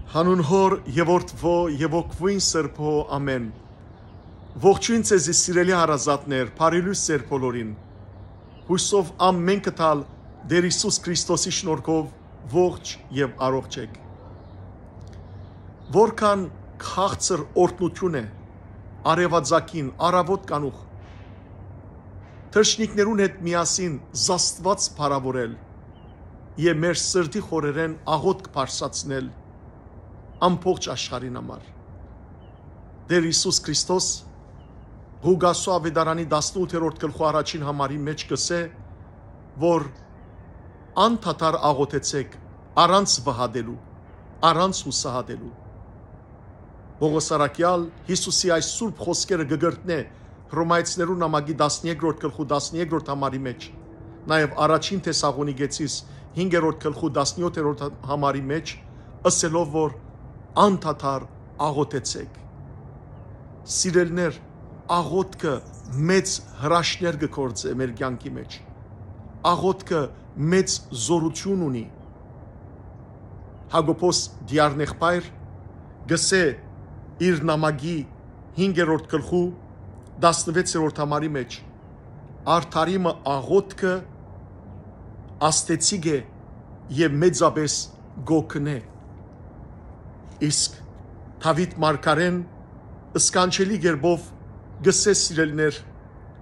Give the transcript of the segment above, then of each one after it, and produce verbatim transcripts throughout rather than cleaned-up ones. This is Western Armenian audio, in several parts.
Հանուն Հօր եւ Որդւոյ եւ Հոգւոյն Սրբոյ, ամէն։ Ողջոյն ձեզի, սիրելի հարազատներ, բարի լոյս ձեր բոլորին։ Յուսով ամէնքը տալ Տէր Յիսուս Քրիստոսի շնորհքով ողջ եւ առողջ էք։ Որքան քաղցր օրհնութիւն է արեւածագին, առաւօտ կանուխ, թռչնիկներուն հետ միասին զաստուած փառաւորել եւ մեր սրտի խորերէն աղօթք բարձրացնել ամբողջ աշխարհին համար։ Տէր Յիսուս Քրիստոս Ղուկասու աւետարանի տասնութերորդ գլխու առաջին համարի մէջ կ'ըսէ, որ անդադար աղօթեցէք, առանց վհատելու, առանց յուսահատելու։ Պողոս առաքեալ Յիսուսի այս սուրբ խօսքերը կը կրկնէ Հռոմայեցիներուն նամակի տասներկրորդ գլխու տասներկրորդ համարի մէջ, նաեւ առաջին Թեսաղոնիկեցիս հինգերորդ գլխու տասնյոթերորդ համարի մէջ, ըսելով որ անդադար աղօթեցէք։ Սիրելիներ, աղօթքը մեծ հրաշքներ կը գործէ մեր կեանքի մէջ։ Աղօթքը մեծ զօրութիւն ունի։ Յակոբոս Դիառնեղբայր գսէ իր նամակի հինգերորդ գլխու տասնվեցերորդ համարի մէջ. «Արդարի մը աղօթքը աստեցիկ է եւ մեծապէս կ'օգնէ»։ Իսկ Դաւիթ մարգարեն սքանչելի կերպով գսէ, սիրելիներ,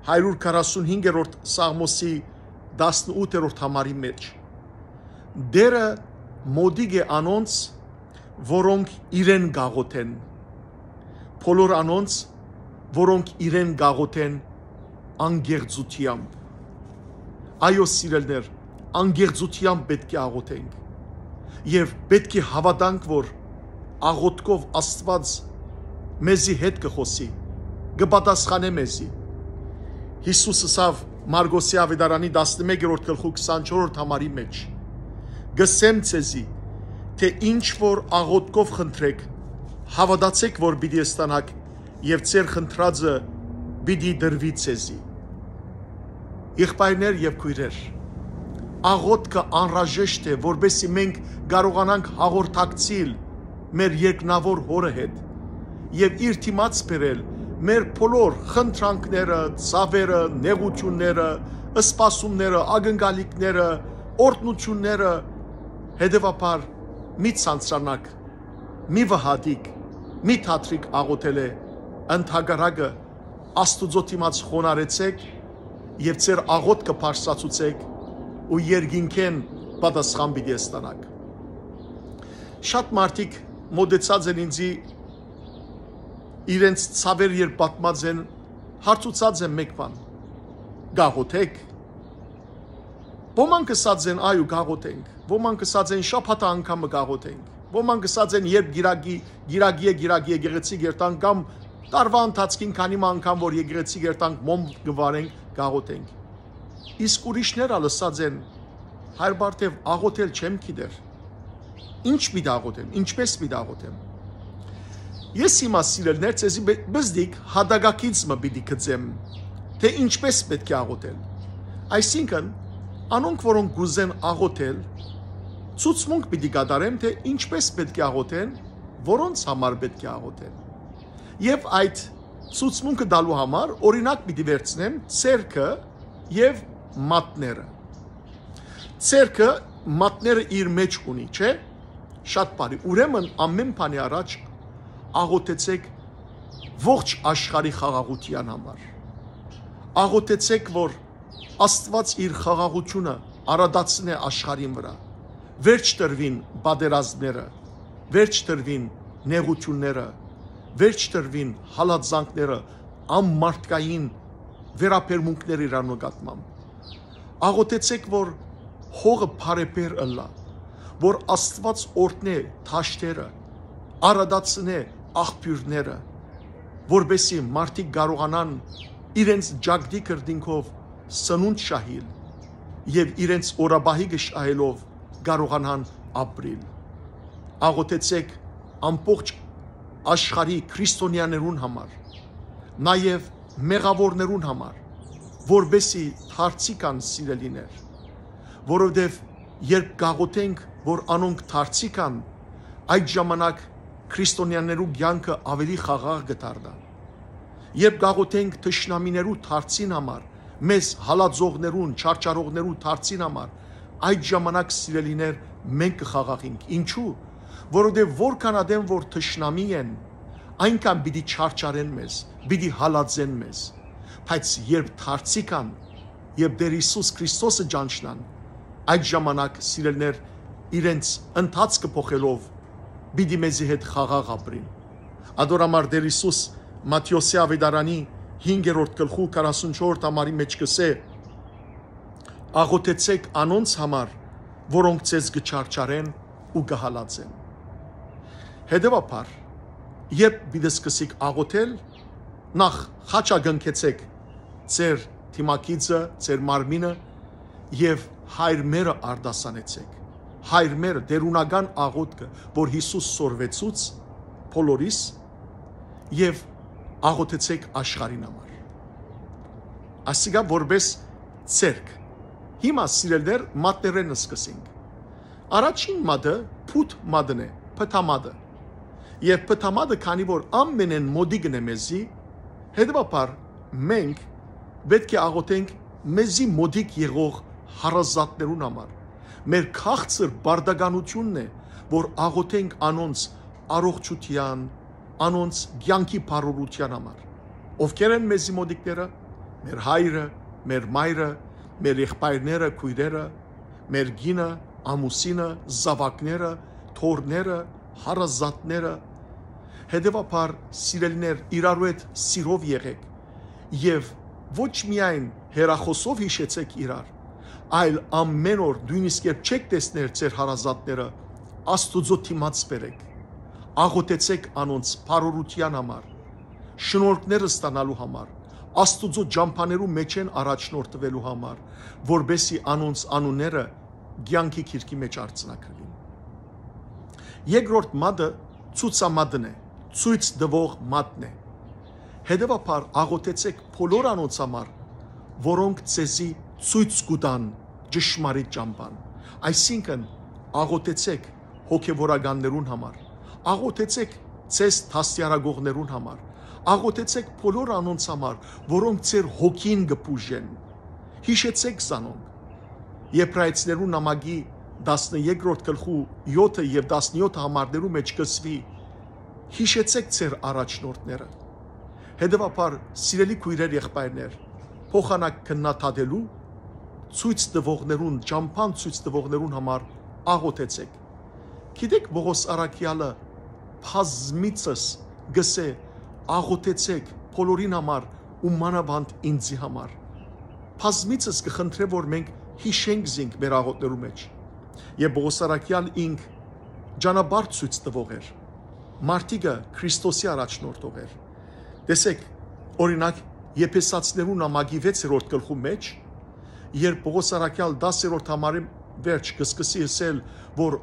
հարիւր քառասունհինգերորդ Սաղմոսի տասնութերորդ համարի մէջ. «Տէրը մօտիկ է անոնց, որոնք իրեն կ'աղօթեն, բոլոր անոնց, որոնք իրեն կ'աղօթեն անկեղծութեամբ»։ Այո, սիրելիներ, անկեղծութեամբ պէտք է աղօթենք եւ պէտք է հաւատանք, որ աղօթքով Աստուած մեզի հետ կը խօսի, կը պատասխանէ մեզի։ Յիսուս ըսաւ Մարկոսի աւետարանի տասնմեկերորդ գլխու քսանչորսերորդ համարի մէջ. «Կ'ըսեմ ձեզի, թէ ինչ որ աղօթքով խնդրէք, հաւատացէք որ պիտի ստանաք, եւ ձեր խնդրածը պիտի տրուի ձեզի»։ Եղբայրներ եւ քոյրեր, աղօթքը անհրաժեշտ է, որպեսզի մենք կարողանանք հաղորդակցիլ մեր երկնաւոր Հօրը հետ եւ իր դիմաց բերել մեր բոլոր խնդրանքները, ցաւերը, նեղութիւնները, սպասումները, ակնկալիքները, օրհնութիւնները։ Հետեւաբար, մի ցանցրանաք, մի վհատիք, մի դադրիք աղօթելէ, ընդհակառակը, Աստուծոյ դիմաց խոնարհեցէք եւ ձեր աղօթքը բարձրացուցէք ու երկինքէն պատասխան պիտի ստանաք։ Շատ մարդիկ մօտեցած են ինծի, իրենց ցաւեր երբ պատմած են, հարցուցած են մէկ բան. «Կ'աղօթէք»։ Ոմանք ըսած են. «Այո, կ'աղօթենք»։ Ոմանք ըսած են. «Շաբաթը անգամ մը կ'աղօթենք»։ Ոմանք ըսած են. «Երբ գիրագի, գիրագի է, գիրագի եկեղեցի կ'երթանք, կամ տարուայ ընթացքին քանի մը անգամ որ եկեղեցի կ'երթանք, մոմ կը վառենք, կ'աղօթենք»։ Իսկ ուրիշներ ալ ըսած են. «Հայր Բարթեւ, աղօթել չեմ գիտեր։ Ինչ պիտի աղօթեմ, ինչպէս պիտի աղօթեմ»։ Ես հիմա, սիրելիներ, ձեզի բե-, բզդիկ հատակագիծ մը պիտի գծեմ, թէ ինչպէս պէտք է աղօթել։ Այսինքն, անոնք, որոնք կ'ուզեն աղօթել, ցուցմունք պիտի կատարեմ, թէ ինչպէս պէտք է աղօթեն, որոնց համար պէտք է աղօթեն։ Եւ այդ ցուցմունքը տալու համար օրինակ պիտի վերցնեմ ձեռքը եւ մատները։ Ձեռքը մատները իր մեջ ունի, չէ՞։ Շատ բարի։ Ուրեմն ամէն բանի առաջ աղօթեցէք ողջ աշխարհի խաղաղութեան համար։ Աղօթեցէք, որ Աստուած իր խաղաղութիւնը արատացնէ աշխարհին վրայ։ Վերջ տրուին պատերազմները, վերջ տրուին նեղութիւնները, վերջ տրուին հալածանքները, անմարդկային վերաբերմունքները իրար նկատմամբ։ Աղօթեցէք, որ հողը բարեպեր ըլլայ, որ Աստուած օրհնէ դաշտերը, արատացնէ աղբիւրները, որպեսզի մարդիկ կարողանան իրենց ճակտի քրտինքով սնունդ շահիլ եւ իրենց օրապահի կը շահելով կարողանան ապրիլ։ Աղօթեցէք ամբողջ աշխարհի քրիստոնեաներուն համար, նաեւ մեղաւորներուն համար, որպեսզի դարձի կան, սիրելիներ, որովհետեւ երբ կաղոթենք, որ անոնք դարձի կան, Այդ ժամանակ քրիստոնեաներու կեանքը աւելի խաղաղ կը դառնայ։ Երբ կ'աղօթենք թշնամիներու դարձին համար, մեզ հալածողներուն, չարչարողներու դարձին համար, այդ ժամանակ, սիրելիներ, մենք կը խաղաղենք։ Ինչու՞։ Որովհետեւ որքան ատեն որ թշնամի են, այնքան պիտի չարչարեն մեզ, պիտի հալածեն մեզ։ Բայց երբ դարձի կան, երբ Տէր Յիսուս Քրիստոսը ճանչնան, այդ ժամանակ, սիրելիներ, իրենց ընթացքը փոխելով, պիտի մեզի հետ խաղաղ ապրին։ Ադոր համար Տէր Յիսուս Մատթէոսի աւետարանի հինգերորդ գլխու քառասունչորդ համարի մէջ կ'ըսէ. «Աղօթեցէք անոնց համար, որոնք ձեզ կը չարչարեն ու կը հալածեն»։ Հետեւաբար, երբ պիտի սկսիք աղօթել, նախ խաչակնքեցէք ձեր դիմագիծը, ձեր մարմինը եւ Հայր մերը արտասանեցէք։ Հայր մերը, տէրունական աղօթքը, որ Յիսուս սորվեցուց բոլորիս, եւ աղօթեցէք աշխարհին համար։ Ասիկա որպես ձեռք։ Հիմա, սիրելիներ, մատներէն սկսենք։ Առաջին մատը փութ մատն է, փթամատը։ Եւ փթամատը, քանի որ ամենէն մօտիկն է մեզի, հետեւաբար մենք պէտք է աղօթենք մեզի մօտիկ եղող հարազատներուն համար։ Մեր քաղցր պարտականութիւնն է, որ աղօթենք անոնց առողջութեան, անոնց կեանքի բարօրութեան համար։ Ովքեր են մեզի մօտիկները։ Մեր հայրը, մեր մայրը, մեր եղբայրները, քոյրերը, մեր կինը, ամուսինը, զաւակները, թոռները, հարազատները։ Հետեւաբար, սիրելիներ, իրարու հետ սիրով եղէք եւ ոչ միայն հեռախօսով յիշեցէք իրար, այլ ամէն օր, նոյնիսկ երբ չէք տեսներ ձեր հարազատները, Աստուծոյ դիմաց բերէք, աղօթեցէք անոնց բարօրութեան համար, շնորհքները ստանալու համար, Աստուծոյ ճամբաներու մէջէն առաջնորդուելու համար, որպէսզի անոնց անունները կեանքի գիրքի մէջ արձանագրուին։ Երկրորդ մատը ցուցամատն է, ցոյց տուող մատն է։ Հետեւաբար, աղօթեցէք բոլոր անոնց համար, որոնք ձեզի ցոյց կու տան ճշմարիտ ճամբան։ Այսինքն, աղօթեցէք հոգեվորականներուն համար, աղօթեցէք ձեզ դաստիարակողներուն համար, աղօթեցէք բոլոր անոնց համար, որոնք ձեր հոգին կը բուժեն։ Յիշեցէք զանոնք։ Եբրայեցիներու նամակի տասներկրորդ գլխու եօթը եւ տասնեօթ համարներու մէջ կ'ըսուի. «Յիշեցէք ձեր առաջնորդները»։ Հետեւաբար, սիրելի քոյրեր, եղբայրներ, փոխանակ քննադատելու, ցոյց տուողներուն, ճամբան ցոյց տուողներուն համար աղօթեցէք։ Գիտէք, Պողոս առաքեալը բազմիցս կ'ըսէ. «Աղօթեցէք բոլորին համար ու մանաւանդ ինծի համար»։ Բազմիցս կը խնդրէ, որ մենք յիշենք զինք մեր աղօթներու մէջ։ Եւ Պողոս առաքեալ ինք ճանապարհ ցոյց տուող էր, մարդիկը Քրիստոսի առաջնորդող էր։ Տեսեք, օրինակ, Եփեսացիներու նամակի վեցերորդ գլխու մէջ, երբ Պողոս առաքեալ տասերորդ համարի վերջ կը սկսի ըսել, որ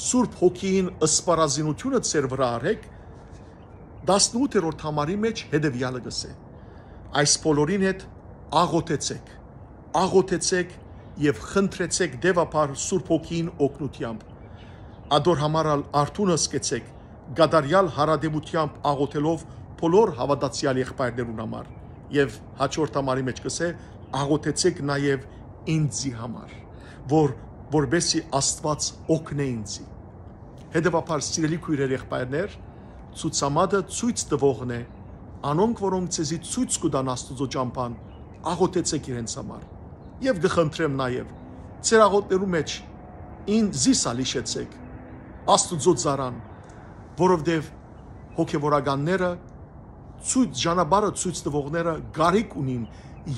Սուրբ Հոգիին սպառազինութիւնը ձեր վրայ առէք, տասնութերորդ համարի մէջ հետեւեալը կ'ըսէ. «Այս բոլորին հետ աղօթեցէք, աղօթեցէք եւ խնդրեցէք տեւաբար Սուրբ Հոգիին օգնութեամբ։ Ադոր համար ալ արթուն ըսկեցէք, կատարեալ յարատեւութեամբ աղօթելով բոլոր հաւատացեալ եղբայրներուն համար»։ Եւ հաջորդ համարի մէջ կ'ըսէ. «Աղօթեցէք նաեւ ինձի համար, որ, որպեսզի Աստուած օգնէ ինձի»։ Հետեւաբար, սիրելի քոյրեր, եղբայրներ, ցուցամատը ցոյց տուողն է, անոնք, որոնք ձեզի ցոյց կու տան Աստուծոյ ճամբան, աղօթեցէք իրենց համար։ Եւ կը խնդրեմ նաեւ, ձեր աղօթներու մէջ ինձ, զիս ալ յիշեցէք, Աստուծոյ ծառան, որովհետեւ հոգեվորականները, ցոյց, ճանապարհը ցոյց տուողները կարիք ունին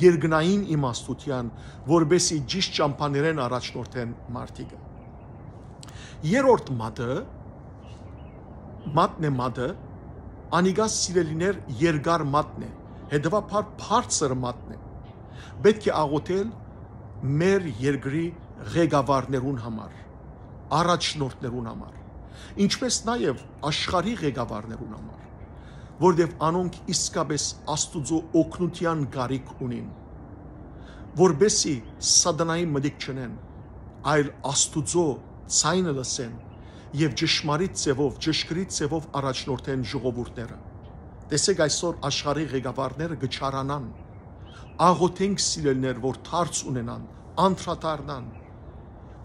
երկնային իմաստութեան, որպեսզի ճիշտ ճամբաներէն առաջնորդեն մարդիկը։ Երրորդ մատը, մատն է մատը, անիկա, սիրելիներ, երկար մատն է, հետեւաբար բարձր մատն է։ Պէտք է աղօթել մեր երկրի ղեկավարներուն համար, առաջնորդներուն համար, ինչպէս նաեւ աշխարհի ղեկավարներուն համար, որտեւ անոնք իսկապէս Աստուծոյ օգնութեան կարիք ունին, որպեսզի սատանային մտիկ չընեն, այլ Աստուծոյ ձայնը լսեն եւ ճշմարիտ ձեւով, ճշգրիտ ձեւով առաջնորդեն ժողովուրդները։ Տեսեք, այսօր աշխարհի ղեկավարները կը չարանան։ Աղոթենք, սիրելիներ, որ դարձ ունենան, անդրադառնան,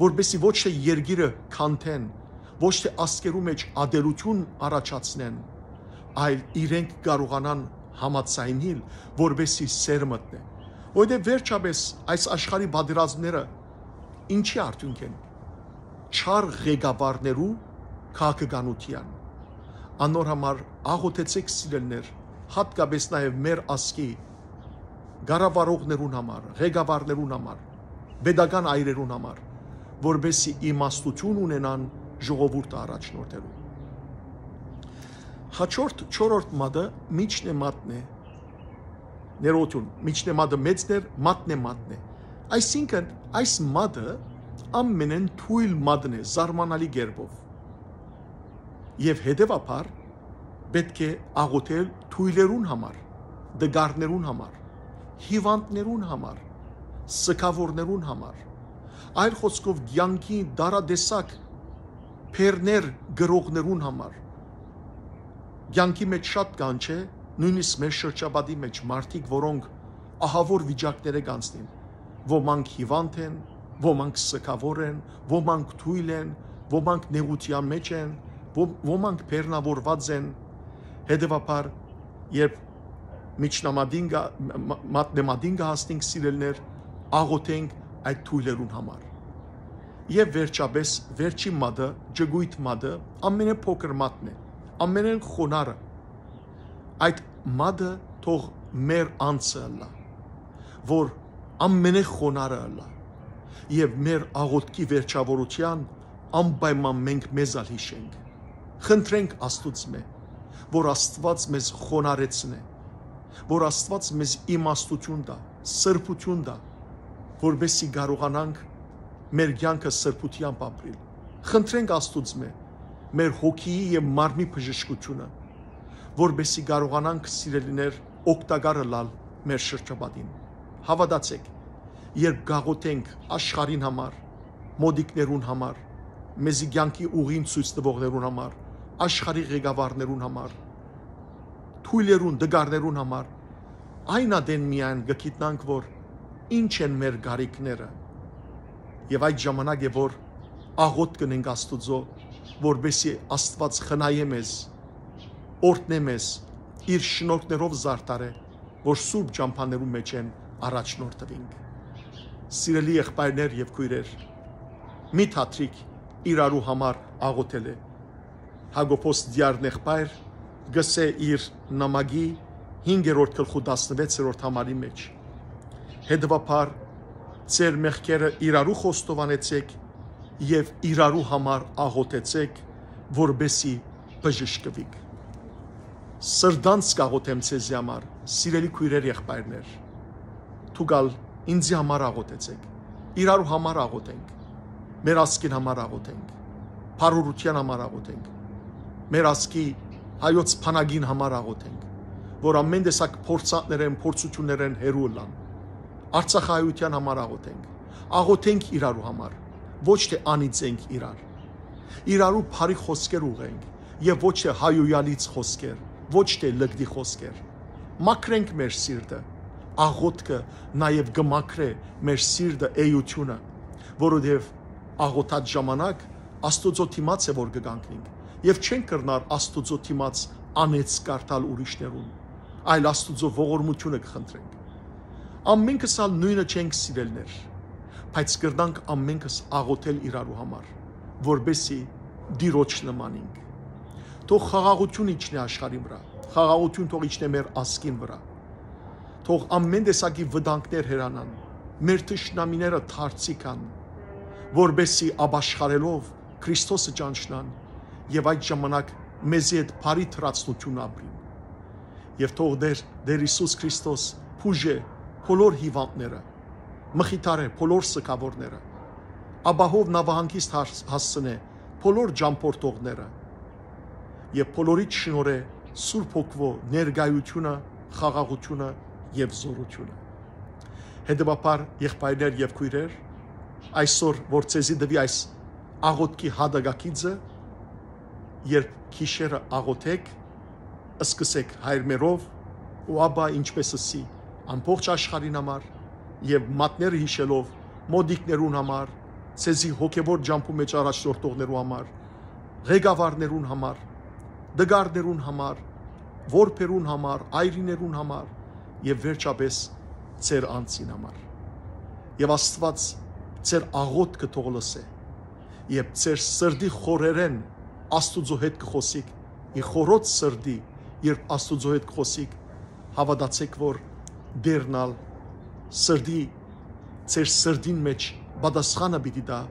որպեսզի ոչ թէ երկիրը քանթեն, ոչ թէ ազգերու մէջ ատելութիւն առաջացնեն, այլ իրենք կարողանան համաձայնել, որպեսզի սեր մտնէ։ Որովհետեւ վերջապէս այս աշխարհի պատերազմները ինչի արդիւնք են։ Չար ղեկավարներու քաղաքականութեան։ Անոր համար աղոթեցէք, սիրելիներ, յատկապէս նաեւ մեր ազգի կառավարողներուն համար, ղեկավարներուն համար, պետական այրերուն համար, որպեսզի իմաստութիւն ունենան ժողովուրդը առաջնորդելու։ Հաջորդ, չորրորդ մատը միջնեմատն է, ներողություն, միջնեմատը մեծն էր, մատնեմատն է։ Այսինքն, այս մատը ամենէն թոյլ մատն է, զարմանալի կերպով։ Եւ հետեւաբար պէտք է աղոթել թոյլերուն համար, տկարներուն համար, հիւանդներուն համար, սգաւորներուն համար, այլ խօսքով, կեանքի տարատեսակ բեռներ կրողներուն համար։ Կեանքի մէջ շատ կան, չէ՞, նոյնիսկ մեր շրջապատի մէջ մարդիկ, որոնք ահաւոր վիճակներէ կանցնին, ոմանք հիւանդ են, ոմանք սգաւոր են, ոմանք թոյլ են, ոմանք նեղութեան մէջ են, ոմ-, ոմանք բեռնաւորուած են։ Հետեւաբար, երբ միջնամատին գա-, մա-, մատնեմատին կը հասնենք, սիրելիներ, աղոթենք այդ թոյլերուն համար։ Եւ վերջապէս, վերջին մատը, ջկոյտ մատը, ամենէ փոքր մատն է, ամենէն խոնարը։ Այդ մատը թող մեր անձը ըլլայ, որ ամենէ խոնարը ըլլայ, եւ մեր աղոթքի վերջաւորութեան անպայման մենք մեզ ալ յիշենք։ Խնդրենք Աստուծմէ, որ Աստուած մեզ խոնարհեցնէ, որ Աստուած մեզ իմաստութիւն տայ, սրբութիւն տայ, որպեսզի կարողանանք մեր կեանքը սրբութեամբ ապրիլ։ Խնդրենք Աստուծմէ մեր հոգիի եւ մարմնի բժշկութիւնը, որպեսզի կարողանանք, սիրելիներ, օգտակար ըլլալ մեր շրջապատին։ Հաւատացէք, երբ կաղոթենք աշխարհին համար, մօտիկներուն համար, մեզի կեանքի ուղին ցոյց տուողներուն համար, աշխարհի ղեկավարներուն համար, թոյլերուն, տկարներուն համար, այն ատեն միայն կը գիտնանք, որ ինչ են մեր կարիքները։ Եւ այդ ժամանակ է, որ աղոթք կ'ընենք Աստուծոյ, որպեսզի Աստուած խնայէ մեզ, օրհնէ մեզ, իր շնորհքներով զարդարէ, որ սուրբ ճամբաներուն մէջ են առաջնորդուինք։ Սիրելի եղբայրներ եւ քոյրեր, մի թատրիկ իրարու համար աղոթելէ։ Յակոբոս Տիարն եղբայր կ'ըսէ իր նամակի հինգերորդ գլխու տասնվեցերորդ համարի մէջ. «Հետեւաբար, ձեր մեղքերը իրարու խոստովանեցէք եւ իրարու համար աղոթեցէք, որպեսզի բժշկուիք»։ Սրտանց կաղոթեմ ձեզի համար, սիրելի քոյրեր, եղբայրներ։ Դուք ալ ինձի համար աղոթեցէք, իրարու համար աղոթենք, մեր ազգին համար աղոթենք, բարօրութեան համար աղոթենք, մեր ազգի հայոց բանակին համար աղոթենք, որ ամեն տեսակ փորձանքներէն, փորձութիւններէն հեռու ըլլան։ Արցախահայութեան համար աղոթենք, աղոթենք իրարու համար, ոչ թէ անիծենք իրար, իրարու բարի խօսքեր ուղղենք եւ ոչ թէ հայոյալից խօսքեր, ոչ թէ լկտի խօսքեր։ Մաքրենք մեր սիրտը, աղոթքը նաեւ կը մաքրէ մեր սիրտը, էությունը, որովհետեւ աղոթած ժամանակ Աստուծոյ դիմաց է, որ կը կանգնենք, եւ չենք կրնար Աստուծոյ դիմաց անեծ կարդալ ուրիշներուն, այլ Աստուծոյ ողորմութիւնը կը խնդրենք։ Ամենքս ալ նոյնը չենք, սիրելիներ, բայց կրնանք ամենքս աղոթել իրարու համար, որպեսզի Տիրոջ նմանինք։ Թող խաղաղութիւն իջնէ աշխարհին վրայ, խաղաղութիւն թող իջնէ մեր ազգին վրայ։ Թող ամեն տեսակի վտանգներ հեռանան, մեր թշնամիները դարձի գան, որպեսզի ապաշխարելով Քրիստոսը ճանչնան եւ այդ ժամանակ մեզի հետ բարի թրացնութիւն ապրին։ Եւ թող Տեր, Տեր Յիսուս Քրիստոս բուժէ բոլոր հիւանդները, մխիթարէ բոլոր սգաւորները, ապահով նաւահանգիստ հաս-, հասցնէ բոլոր ճամբորդողները եւ բոլորիդ շնորհէ Սուրբ Հոգուոյ ներկայությունը, խաղաղությունը եւ զօրությունը։ Հետեւաբար, եղբայրներ եւ քոյրեր, այսօր որ ձեզի տուի այս աղոթքի հատակագիծը, Երբ գիշերը աղօթէք, սկսէք հայրմերով ու ապա, ինչպէս ըսի, ամբողջ աշխարհին համար եւ մատները յիշելով մօտիկներուն համար, ձեզի հոգեվոր ճամբու մէջ առաջնորդողներու համար, ղեկավարներուն համար, տկարներուն համար, որբերուն համար, այրիներուն համար եւ վերջապէս ձեր անձին համար։ Եւ Աստուած ձեր աղօթքը թող լսէ, երբ ձեր սրտի խորերէն Աստուծոյ հետ կը խօսիք, ի խորոց սրտի, երբ Աստուծոյ հետ կը խօսիք, հաւատացէք, որ Տէրն ալ սրտի, ձեր սրտին մէջ պատասխանը պիտի տայ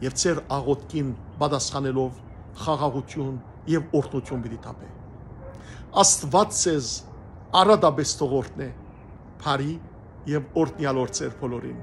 եւ ձեր աղօթքին պատասխանելով խաղաղութիւն եւ օրհնութիւն պիտի թափէ։ Աստուած ձեզ առատապէս թող օրհնէ, բարի եւ օրհնեալ օր ձեր բոլորին։